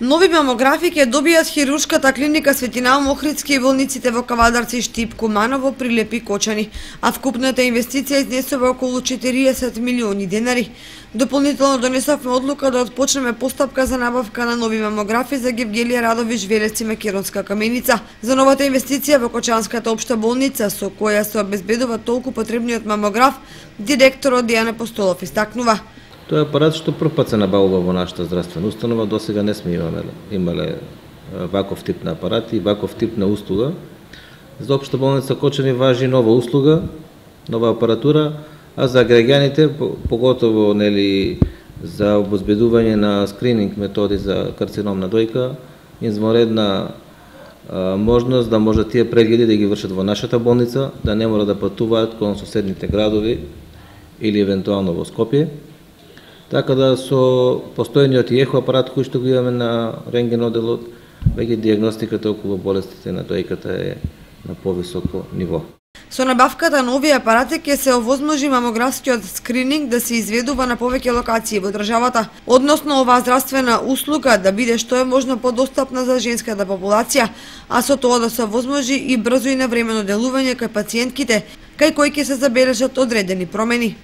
Нови мамографи ќе добијат хируршката клиника Светинал Охридски и болниците во Кавадарци, Штип, Куманово, Прилеп и Кочани, а вкупната инвестиција изнесува околу 40 милиони денари. Дополнително донесовме одлука да отпочнеме постапка за набавка на нови мамографи за Гевгелија Радович Велес и Македонска Каменица. За новата инвестиција во Кочанската општа болница, со која се обезбедува толку потребниот мамограф, директорот Дијана Постолов истакнува. Тоа е апарат што прв пат се набавува во нашата здравствена установа, досега не сме имале ваков тип на апарати и ваков тип на услуга. За општа болница Кочани важи нова услуга, нова апаратура, а за граѓаните, поготово за обезбедување на скрининг методи за карцином на дојка, извонредна можност да може тие прегледи да ги вршат во нашата болница, да не мора да патуваат кон соседните градови или евентуално во Скопје. Така да со постојниот ехо апарат кој што го имаме на рентген оделот, веќе дијагностиката околу болестите на дојката е на повисоко ниво. Со набавката на овие апарати ќе се овозможи мамографскиот скрининг да се изведува на повеќе локации во државата, односно оваа здравствена услуга да биде што е можно подостапна за женската популација, а со тоа да се овозможи и брзо и навремено делување кај пациентките, кај кои ќе се забележат одредени промени.